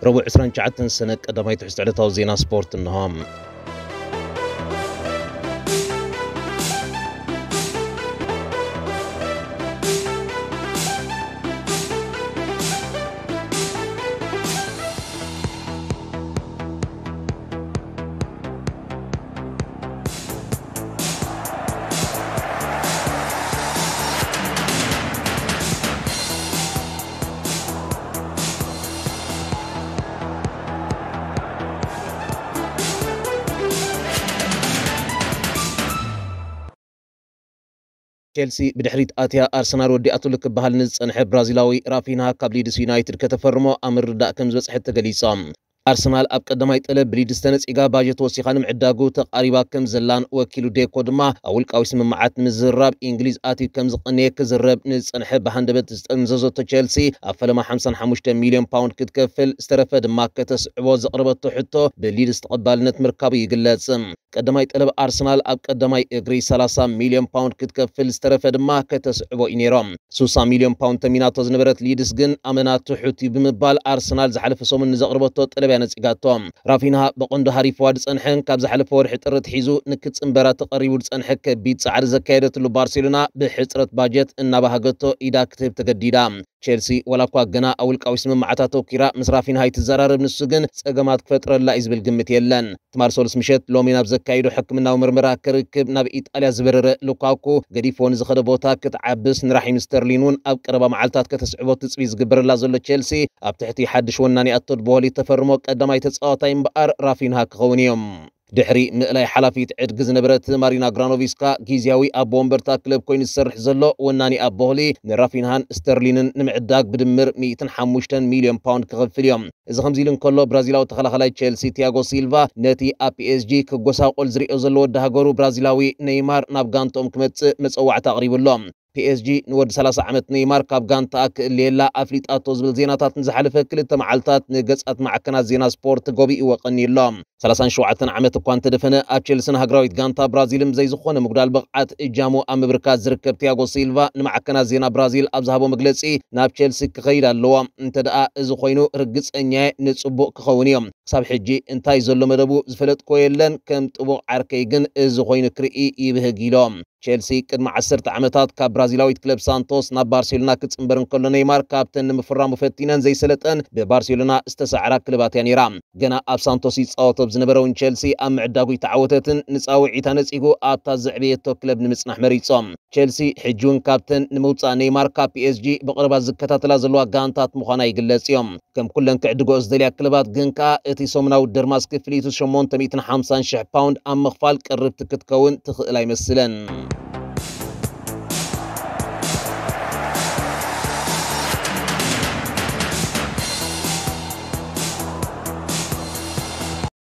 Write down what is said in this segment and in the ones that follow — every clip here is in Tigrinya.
ረቡዕ ዕስራን ትሽዓተን ሰነ ቀዳማይ ትሕዝቶ ዕለታዊ ዜና ስፖርት እንሆ። ቸልሲ ብድሕሪት ኣትያ ኣርሰናል ወዲኣትሉ ክበሃል ንዝጸንሐ ብራዚላዊ ራፊንሃ ካብ ሊድስ ዩናይትድ ከተፈርሞ ኣብ ምርድዳእ ከም ዝበጽሐት ተገሊጹ። ኣርሰናል ኣብ ቀዳማይ ጠለብ ብሊድስ ተነጺጋ ባጀት ወሲኻ ንምዕዳጉ ተቓሪባ ከም ዘላን ወኪሉ ዴኮ ድማ ኣብ ውልቃዊ ስምምዓት ንምዝርራብ ኢንግሊዝ ኣትዩ ከም ዝቐነየ ክዝረብ ንዝጸንሐ ብሃንደበት ዝጠምዘዘቶ ቸልሲ ኣብ ፈለማ ሓምሳን ሓሙሽተ ሚልዮን ፓውንድ ክትከፍል ዝተረፈ ድማ ከተስዕቦ ዘቕረበቶ ሕቶ ብሊድስ ተቐባልነት ምርካቡ ይግለጽ። ቀዳማይ ጠለብ ኣርሰናል ኣብ ቀዳማይ እግሪ ሰላሳ ሚልዮን ፓውንድ ክትከፍል ዝተረፈ ድማ ከተስዕቦ እዩ ነይሮም። ስሳ ሚልዮን ፓውንድ ተሚናቶ ዝነበረት ሊድስ ግን ኣመና ትሑት እዩ ብምባል ኣርሰናል ዝሓለፈ ሰሙን ንዘቕርበቶ ጠለብ እያ ነጺጋቶ። ራፊንሃ ብቐንዱ ሃሪፍዋ ዝጸንሐን ካብ ዝሓለፈ ወርሒ ጥሪ ኣትሒዙ ንክጽንበራ ተቐሪቡ ዝጸንሐ ከቢድ ጻዕሪ ዘካየደትሉ ባርሴሎና ብሕጽረት ባጀት እናባሃገቶ ኢዳ ክትህብ ተገዲዳ። ቸልሲ ዋላ እኳ ገና ኣብ ውልቃዊ ስምምዓት ኣተኲራ ምስ ራፊንሃ ኣይትዘራረብ፣ ንሱ ግን ጸገማት ክፈጥረላ እዩ ዝብል ግምት የለን። ትማል ሰሉስ ምሸት ሎሚ ናብ ዘካየዶ ሕክምናዊ ምርመራ ክርክብ ናብ ኢጣልያ ዝበረረ ሉካኩ፣ ገዲፍዎ ንዝኸደ ቦታ ክትዓብስ ንራሒም ስተርሊን እውን ኣብ ቀረባ መዓልታት ከተስዕቦ ትጽቢት ዝግበረላ ዘሎ ቸልሲ፣ ኣብ ትሕቲ ሓድሽ ወናኒ ኣቶድ ቦሊ ተፈርሞ ቀዳማይ ተጻዋታይ እምበኣር ራፊንሃ ክኸውን እዩ። ድሕሪ ምእላይ ሓላፊት ዕድጊ ዝነበረት ማሪና ግራኖቪስካ፣ ግዝያዊ ኣቦ ወንበርታ ክለብ ኮይኑ ዝሰርሕ ዘሎ ወናኒ ኣቦ ቦሊ ንራፊንሃን ስተርሊንን ንምዕዳግ ብድምር ሚእትን ሓሙሽተን ሚልዮን ፓውንድ ክኸፍል እዮም። እዚ ከምዚ ኢሉ እንከሎ፣ ብራዚላዊ ተኸላኸላይ ቸልሲ ቲያጎ ሲልቫ ነቲ ኣብ ፒኤስጂ ክጎሳቆል ዝሪኦ ዘሎ ወዲ ሃገሩ ብራዚላዊ ኔይማር ናብ ጋንትኦም ክመጽእ መጸዋዕታ ኣቕሪቡ ኣሎ። ፒኤስጂ ንወዲ ሰላሳ ዓመት ኔይማር ካብ ጋንታኣ ክእልየላ ኣፍሊጣቶ ዝብል ዜናታት ንዝሓለፈ ክልተ መዓልታት ንገጻት ማዕከናት ዜና ስፖርት ጎቢእዎ ቀንዩ ኣሎ። ሰላሳን ሸውዓተን ዓመት እኳ እንተደፈነ፣ ኣብ ቸልስን ሃገራዊት ጋንታ ብራዚልን ብዘይ ዝኾነ ምጉዳል ብቕዓት እጃሙ ኣብ ምብርካት ዝርከብ ቲያጎ ሲልቫ ንማዕከናት ዜና ብራዚል ኣብ ዝሃቦ መግለጺ፣ ናብ ቸልሲ ክኸይድ ኣለዎ። እንተ ደኣ እዚ ኮይኑ፣ ርግጸኛ እየ፣ ንጽቡቕ ክኸውን እዩ። ክሳብ ሕጂ እንታይ ዘሎ መደቡ ዝፈለጥኮ የለን፣ ከም ጥቡቕ ዓርከይ ግን እዚ ኮይኑ ክርኢ ይብህግ ኢሎም። ቸልሲ ቅድሚ ዓሰርተ ዓመታት ካብ ብራዚላዊት ክለብ ሳንቶስ ናብ ባርሴሎና ክጽንበር እንከሎ፣ ኔይማር ካብተን ንምፍራሙ ፈቲነን ዘይሰለጠን ብባርሴሎና ዝተሳዕራ ክለባት እያ ነይራ። ገና ኣብ ሳንቶስ ይጻወት ኣብ ዝነበረ እውን ቸልሲ ኣብ ምዕዳጉ ይተዓወተትን ንጻውዒታ ነጺጉ ኣብታ ዘዕበየቶ ክለብ ንምጽናሕ መሪጾም። ቸልሲ ሕጂ እውን ካብተን ንምውጻእ ኔይማር ካብ ፒኤስጂ ብቕርባት ዝከታተላ ዘለዋ ጋንታት ምዃና ይግለጽ እዮም። ከም ኩለን ክዕድግኦ ዝደልያ ክለባት ግን ከኣ እቲ ሰሙናዊ ደርማስ ክፍሊቱ ሸሞንተ ሚእትን ሓምሳን ሽሕ ፓውንድ ኣብ ምኽፋል ቅርብቲ ክትከውን ትኽእል ኣይመስለን።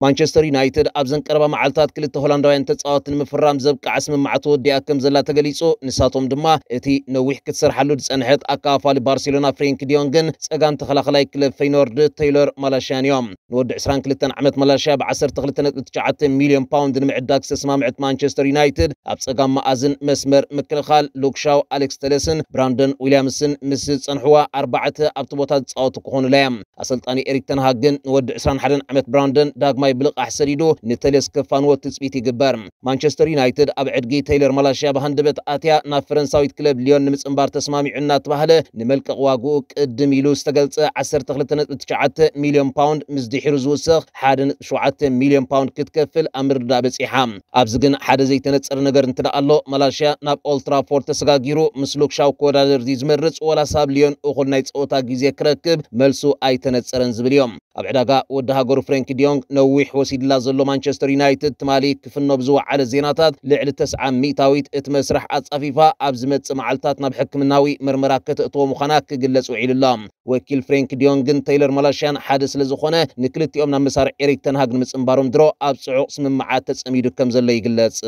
ማንቸስተር ዩናይትድ ኣብዘን ቀረባ መዓልታት ክልተ ሆላንዳውያን ተጻወትቲ ንምፍራም ዘብቅዓ ስምምዓት ወዲኣ ከም ዘላ ተገሊጹ። ንሳቶም ድማ እቲ ነዊሕ ክትሰርሓሉ ዝጸንሐት ኣካፋሊ ባርሴሎና ፍሬንክ ዲዮንግን ጸጋም ተኸላኸላይ ክለብ ፈይኖርድ ቴይሎር ማላሽያን እዮም። ንወዲ ዕስራን ክልተን ዓመት ማላሽያ ብ ዓሰርተ ክልተ ነጥቢ ትሽዓተ ሚልዮን ፓውንድ ንምዕዳግ ዝተስማምዐት ማንቸስተር ዩናይትድ ኣብ ጸጋም መኣዝን መስመር ምክልኻል ሉክሻው፣ ኣሌክስ ተለስን ብራንደን ዊልያምስን ምስ ዝጸንሕዋ ኣርባዕተ ኣብቲ ቦታ ዝጻወቱ ክኾኑላ እዮም። ኣሰልጣኒ ኤሪክ ተንሃግ ግን ንወዲ ዕስራን ሓደን ዓመት ብራንደን ዳግማይ ብልቓሕ ሰዲዱ ንተሌስ ከፋንዎ ትጽቢት ይግበር። ማንቸስተር ዩናይትድ ኣብ ዕድጊ ቴይለር ማላሽያ ብሃንደበት ኣትያ ናብ ፈረንሳዊት ክለብ ሊዮን ንምጽንባር ተስማሚዑ እናተባህለ፣ ንመልቀቕ ዋግኡ ቅድም ኢሉ ዝተገልጸ ዓሰርተ ክልተ ነጥቢ ትሽዓተ ሚልዮን ፓውንድ ምስ ድሒሩ ዝውስኽ ሓደ ነጥቢ ሸውዓተ ሚልዮን ፓውንድ ክትከፍል ኣብ ምርድዳእ በጺሓ። ኣብዚ ግን ሓደ ዘይተነጸረ ነገር እንተ ደኣ ኣሎ፣ ማላሽያ ናብ ኦልትራፎርድ ተሰጋጊሩ ምስ ሉክሻው ክወዳደር ድዩ ዝመርጽ፣ ወላስ ኣብ ሊዮን እኹል ናይ ጸወታ ግዜ ክረክብ፣ መልሱ ኣይተነጸረን ዝብል እዮም። ኣብ ዕዳጋ ወዲ ሃገሩ ፍሬንክ ዲዮንግ ነዊሕ ወሲድላ ዘሎ ማንቸስተር ዩናይትድ፣ ትማሊ ክፍኖ ብዝወዓለ ዜናታት፣ ልዕሊ ተስዓ ሚእታዊት እቲ መስርሕ ኣጻፊፋ ኣብ ዝመጽእ መዓልታት ናብ ሕክምናዊ መርመራ ከተእትዎ ምዃና ክግለጽ ውዒሉ ኣሎ። ወኪል ፍሬንክ ዲዮንግን ቴይለር ማላሽያን ሓደ ስለ ዝኾነ፣ ንክልቲኦም ናብ መሳርዕ ኤሪክ ተንሃግ ንምጽንባሮም ድሮ ኣብ ጽዑቕ ስምምዓት ተጸሚዱ ከም ዘሎ ይግለጽ።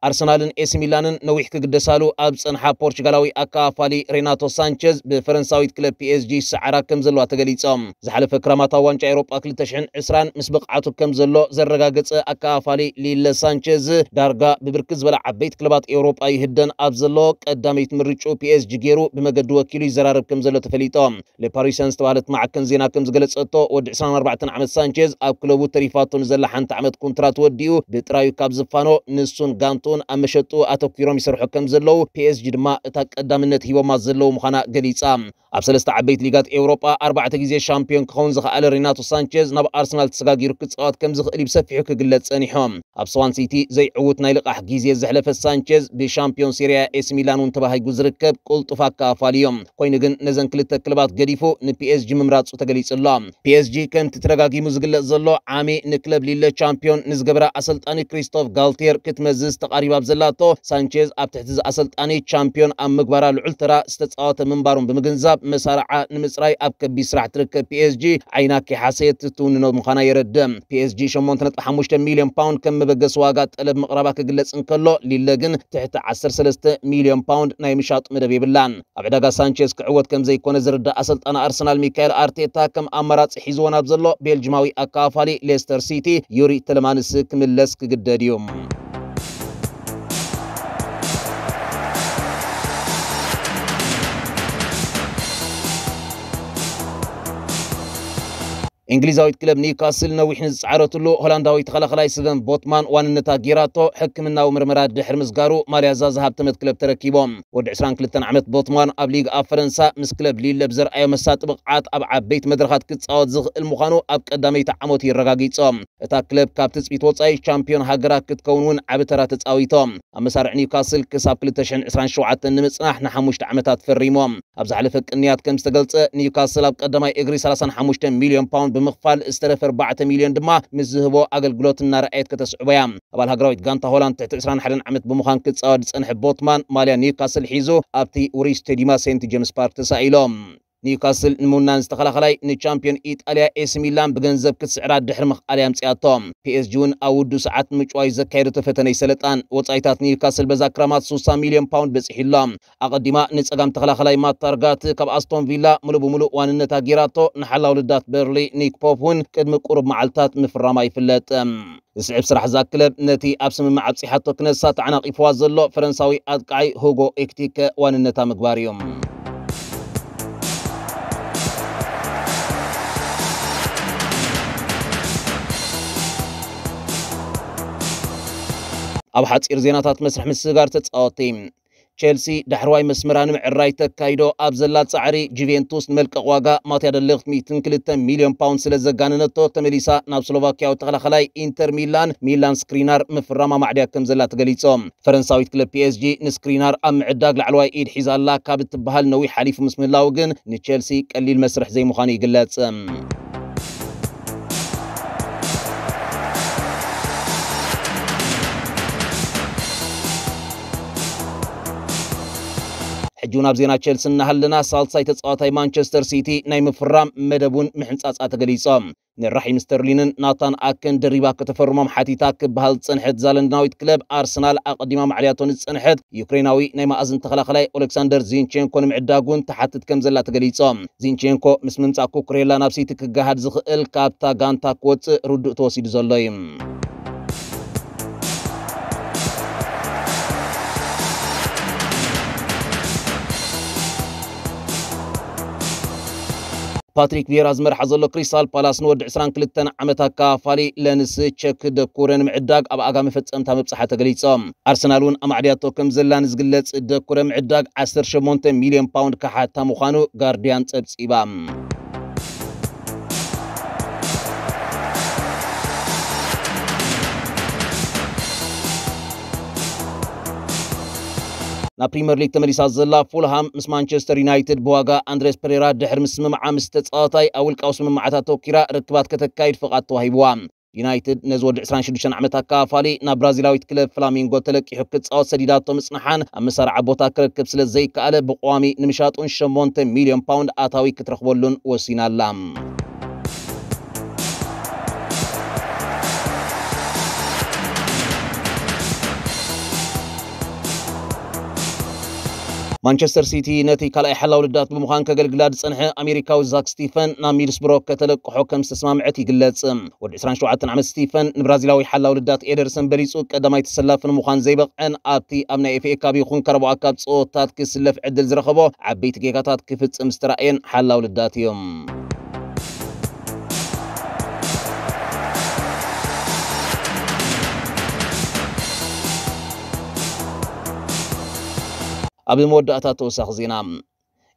ኣርሰናልን ኤሲ ሚላንን ነዊሕ ክግደሳሉ ኣብ ዝጸንሓ ፖርቹጋላዊ ኣከፋፋሊ ሬናቶ ሳንቸዝ ብፈረንሳዊት ክለብ ፒ ኤስ ጂ ይሰዓራ ከም ዘለዋ ተገሊጾም። ዝሓለፈ ክራማት ኣብ ዋንጫ ኤውሮጳ ክልተ ሽሕን ዕስራን ምስ ብቕዓቱ ከም ዘሎ ዘረጋገጸ ኣከፋፋሊ ሊለ ሳንቸዝ፣ ዳርጋ ብብርክት ዝበላ ዓበይቲ ክለባት ኤውሮጳ ይህደን ኣብ ዘሎ ቀዳመይቲ ምርጭኡ ፒ ኤስ ጂ ገይሩ ብመገዲ ወኪሉ ይዘራረብ ከም ዘሎ ተፈሊጦም። ለፓሪሰን ዝተባህለት ማዕከን ዜና ከም ዝገለጸቶ፣ ወዲ ዕስራን ኣርባዕተን ዓመት ሳንቼዝ ኣብ ክለቡ ተሪፋቶ ንዘላ ሓንቲ ዓመት ኮንትራት ወዲኡ ብጥራዩ ካብ ዝፋኖ፣ ንሱን ጋንቱን ኣብ መሸጡ ኣተኲሮም ይሰርሑ ከም ዘለዉ፣ ፒ ኤስ ጂ ድማ እታ ቀዳምነት ሂቦማ ዘለዉ ምዃና ገሊጻ። ኣብ ሰለስተ ዓበይቲ ሊጋት ኤውሮጳ ኣርባዕተ ግዜ ሻምፒዮን ክኸውን ዝኸኣለ ሬናቶ ሳንቼዝ ናብ ኣርሰናል ተሰጋጊሩ ክጻወት ከም ዝኽእል እዩ ብሰፊሑ ክግለጽ ጸኒሑ። ኣብ ስዋን ሲቲ ዘይዕዉት ናይ ልቓሕ ግዜ ዘሕለፈ ሳንቼዝ፣ ብሻምፒዮን ሴሪያ ኤሲ ሚላን እውን ተባሂጉ ዝርከብ ቅልጡፍ ኣከፋፋሊ እዩ። ኮይኑ ግን ነዘን ክልተ ክለባት ገዲፉ ንፒ ኤስ ጂ ምምራጹ ተገሊጹ ኣሎ። ፒ ኤስ ጂ ከምቲ ተደጋጊሙ ዝግለጽ ዘሎ ዓሚ ንክለብ ሊለ ቻምፒዮን ንዝገበረ ኣሰልጣኒ ክሪስቶፍ ጋልቲየር ክትመዝዝ ተቓሪባ ኣብ ዘላቶ፣ ሳንቼዝ ኣብ ትሕቲ እዚ ኣሰልጣኒ ቻምፒዮን ኣብ ምግባራ ልዑል ተራ ዝተጻወተ ምንባሩን ብምግንዛብ፣ መሳርዓ ንምጽራይ ኣብ ከቢድ ስራሕ ትርከብ ፒ ኤስ ጂ ዓይና ከይሓሰየት ትውንኖ ምዃና የረድእ። ፒ ኤስ ጂ ሸሞንተ ነጥቢ ሓሙሽተ ሚልዮን ፓውንድ ከም መበገሲ ዋጋ ጠለብ ምቕራባ ክግለጽ እንከሎ፣ ሊለ ግን ትሕቲ ዓሰርተ ሰለስተ ሚልዮን ፓውንድ ናይ ምሻጥ መደብ የብላን። ኣብ ዕዳጋ ሳንቼዝ ክዕወት ከም ዘይኮነ ዝርዳእ ኣሰልጣኒ ኣርሰናል ሚካኤል ኣርቴታ፣ ከም ኣማራጺ ሒዝዎ ናብ ዘሎ ቤልጅማዊ ኣከፋፋሊ ሌስተር ሲቲ ዩሪ ተለማንስ ክምለስ ክግደድ እዩ። እንግሊዛዊት ክለብ ኒውካስል ነዊሕ ንዝጸዓረትሉ ሆላንዳዊ ተኸላኸላይ ስቨን ቦትማን ዋንነታ ጌራቶ፣ ሕክምናዊ ምርመራ ድሕሪ ምስጋሩ ማልያ እዛ ዝሃብተመት ክለብ ተረኪቦም። ወዲ ዕስራን ክልተን ዓመት ቦትማን ኣብ ሊግ ኣብ ፈረንሳ ምስ ክለብ ሊለ ብዘርኣዮ መሳጢ ብቕዓት ኣብ ዓበይቲ መድረኻት ክጻወት ዝኽእል ምዃኑ ኣብ ቀዳመይቲ ዓመቱ የረጋጊጾም። እታ ክለብ ካብ ትጽቢት ወጻኢ ቻምፒዮን ሃገራ ክትከውን እውን ዓቢ ተራ ተጻዊቶም። ኣብ መሳርዕ ኒውካስል ክሳብ ክልተ ሽሕን ዕስራን ሸውዓተን ንምጽናሕ ንሓሙሽተ ዓመታት ፈሪሞም። ኣብ ዝሓለፈ ቅንያት ከም ዝተገልጸ፣ ኒውካስል ኣብ ቀዳማይ እግሪ ሰላሳን ሓሙሽተን ሚልዮን ፓውንድ ብምኽፋል ዝተረፈ ኣርባዕተ ሚልዮን ድማ ምስ ዝህቦ ኣገልግሎት እናረኣየት ከተስዕቦ እያ። ኣባል ሃገራዊት ጋንታ ሆላንድ ትሕቲ ዕስራን ሓደን ዓመት ብምዃን ክጻወት ዝጸንሐ ቦትማን ማልያ ኒውካስል ሒዙ ኣብቲ ውሩይ ስቴዲማ ሴንት ጄምስ ፓርክ ተሳኢሎም። ኒውካስል ንምውናን ዝተኸላኸላይ ንቻምፒዮን ኢጣልያ ኤሲ ሚላን ብገንዘብ ክትስዕራ ድሕሪ ምኽኣል እያ ኣምጺኣቶ። ፒ ኤስ ጂ እውን ኣብ ውዱ ሰዓት ንምጭዋይ ዘካየደቶ ፈተነ ኣይሰለጣን። ወጻኢታት ኒውካስል በዛ ክራማት ስሳ ሚልዮን ፓውንድ በጺሑ ኣሎ። ኣቐዲማ ንጸጋም ተኸላኸላይ ማት ታርጋት ካብ ኣስቶን ቪላ ምሉእ ብምሉእ ዋንነታ ጌራቶ፣ ንሓላው ልዳት በርሊ ኒክ ፖፕ እውን ቅድሚ ቁሩብ መዓልታት ምፍራማ ይፍለጥ። ዝስዕብ ስራሕ እዛ ክለብ ነቲ ኣብ ስምምዕ ኣብጺሓቶ ክነሳ ተዓናቒፍዋ ዘሎ ፈረንሳዊ ኣጥቃዓይ ሁጎ ኤክቲከ ዋንነታ ምግባር እዩ። ኣብ ሓጺር ዜናታት መስርሕ ምስግጋር ተጻወቲ። ቸልሲ ዳሕረዋይ መስመራ ንምዕራይ ተካይዶ ኣብ ዘላ ጻዕሪ፣ ጁቬንቱስ ንመልቀቕ ዋጋ ማትያ ደሊኽት ሚእትን ክልተ ሚልዮን ፓውንድ ስለ ዘጋነነቶ፣ ተመሊሳ ናብ ስሎቫክያዊ ተኸላኸላይ ኢንተር ሚላን ሚላን ስክሪናር ምፍራም ኣማዕድያ ከም ዘላ ተገሊጾ። ፈረንሳዊት ክለብ ፒ ኤስ ጂ ንስክሪናር ኣብ ምዕዳግ ላዕለዋይ ኢድ ሒዛ ኣላ ካብ እትበሃል ነዊሕ ሓሊፉ ምስ ምህላዉ ግን ንቸልሲ ቀሊል መስርሕ ዘይምዃኑ ይግለጽ። ሕጂ እውን ኣብ ዜና ቸልሲ እናሃለና፣ ሳልሳይ ተጻዋታይ ማንቸስተር ሲቲ ናይ ምፍራም መደብ እውን ምሕንጻጻ ተገሊጾ። ንራሒም ስተርሊንን ናታን ኣከን ደሪባ ከተፈርሞም ሓቲታ ክበሃል ዝጸንሐት እዛ ለንደናዊት ክለብ፣ ኣርሰናል ኣቐዲማ ማዕልያቶ ንዝጸንሐት ዩክሬናዊ ናይ ማእዝን ተኸላኸላይ ኦሌክሳንደር ዚንቼንኮ ንምዕዳግ እውን ትሓትት ከም ዘላ ተገሊጾ። ዚንቼንኮ ምስ ምምጻእ ኩኩሬላ ናብ ሲቲ ክገሃድ ዝኽእል ካብታ ጋንታ ክወጽእ ርዱእ ተወሲዱ ዘሎ እዩ። ፓትሪክ ቪየራ ዝመርሓ ዘሎ ክሪስታል ፓላስ ንወዲ ዕስራን ክልተን ዓመት ኣካፋሊ ለንስ ቸክ ደኩረ ንምዕዳግ ኣብ ኣጋ መፈጸምታ ምብጽሓ ተገሊጾ። ኣርሰናል እውን ኣማዕድያቶ ከም ዘላ ንዝግለጽ ደኩረ ምዕዳግ ዓሰርተ ሸሞንተ ሚልዮን ፓውንድ ክሓታ ምዃኑ ጋርዲያን ጸብጺባ። ናብ ፕሪምየር ሊግ ተመሊሳ ዘላ ፉልሃም ምስ ማንቸስተር ዩናይትድ ብዋጋ ኣንድሬስ ፐሬራ ድሕሪ ምስምምዓ ምስ ተጻዋታይ ኣብ ውልቃዊ ስምምዓታት ተወኪራ ርክባት ከተካይድ ፍቓድ ተዋሂብዋ። ዩናይትድ ነዚ ወዲ ዕስራን ሽዱሽተን ዓመት ኣካፋሊ ናብ ብራዚላዊት ክለብ ፍላሚንጎ ተለቂሑ ክጻወት ሰዲዳቶ ምጽንሓን ኣብ መሳርዓ ቦታ ክረክብ ስለ ዘይከኣለ ብቐዋሚ ንምሻጡን ሸሞንተ ሚልዮን ፓውንድ ኣታዊ ክትረኽበሉን ወሲና ኣላ። ማንቸስተር ሲቲ ነቲ ካልኣይ ሓላው ልዳት ብምዃን ከገልግላ ዝጸንሐ ኣሜሪካዊ ዛክ ስቲፈን ናብ ሚድስብሮ ከተለቅሖ ከም ዝተስማምዐት ይግለጽ። ወዲ ዕስራን ሸውዓተን ዓመት ስቲፈን ንብራዚላዊ ሓላው ልዳት ኤደርሰን በሊጹ ቀዳማይ ተሰላፊ ንምዃን ዘይበቕዐን ኣብቲ ኣብ ናይ ኤፍኤ ካፕ ይኹን ካራባኦ ካፕ ጸወታት ክስለፍ ዕድል ዝረኸቦ ዓበይቲ ጌጋታት ክፍጽም ዝተራእየን ሓላው ልዳት እዩ። ኣብ መወዳእታ ተወሳኺ ዜና።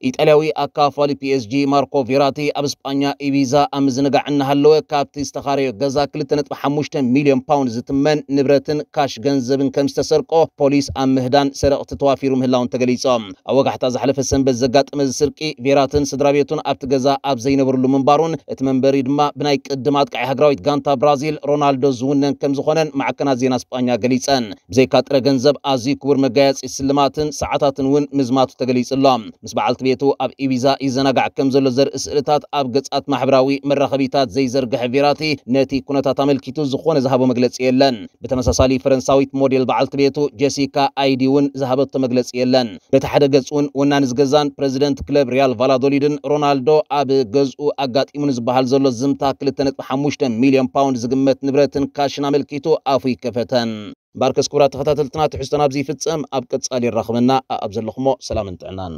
ኢጣልያዊ ኣካፋሊ ፒኤስጂ ማርኮ ቬራቲ ኣብ ስጳኛ ኢቢዛ ኣብ ምዝንጋዕ እናሃለወ ካብቲ ዝተኻረዮ ገዛ ክልተ ነጥቢ ሓሙሽተ ሚልዮን ፓውንድ ዝትመን ንብረትን ካሽ ገንዘብን ከም ዝተሰርቆ ፖሊስ ኣብ ምህዳን ሰረቕቲ ተዋፊሩ ምህላውን ተገሊጾም። ኣብ ወጋሕታ ዝሓለፈ ሰንበት ዘጋጠመ እዚ ስርቂ ቬራትን ስድራ ቤቱን ኣብቲ ገዛ ኣብ ዘይነበርሉ ምንባሩን እቲ መንበሪ ድማ ብናይ ቅድም ኣጥቃዒ ሃገራዊት ጋንታ ብራዚል ሮናልዶ ዝውነን ከም ዝኾነን ማዕከናት ዜና ስጳኛ ገሊጸን። ብዘይካ ጥረ ገንዘብ ኣዝዩ ክቡር መጋየጺ ስልማትን ሰዓታትን እውን ምዝማቱ ተገሊጹ ኣሎ። ምስ በዓልቲ ቤቱ ኣብ ኢቢዛ ይዘናጋዕ ከም ዘሎ ዘርኢ ስእልታት ኣብ ገጻት ማሕበራዊ መራኸቢታት ዘይዘርግሐ ቬራቲ ነቲ ኩነታት ኣመልኪቱ ዝኾነ ዝሃቦ መግለጺ የለን። ብተመሳሳሊ ፈረንሳዊት ሞዴል በዓልቲ ቤቱ ጀሲካ ኣይዲ እውን ዝሃበቶ መግለጺ የለን። በቲ ሓደ ገጽ እውን ወናኒ ዝገዛን ፕረዚደንት ክለብ ሪያል ቫላዶሊድን ሮናልዶ ኣብ ገዝኡ ኣጋጢሙ ንዝበሃል ዘሎ ዝምታ ክልተ ነጥቢ ሓሙሽተ ሚልዮን ፓውንድ ዝግመት ንብረትን ካሽን ኣመልኪቱ ኣፉ ይከፈተን። እምበኣርከስ ክቡራት ተኸታተልትና ትሕዝቶና ኣብዚ ይፍጸም። ኣብ ቀጻሊ የራኽበና። ኣብ ዘለኹሞ ሰላምን ጥዕናን።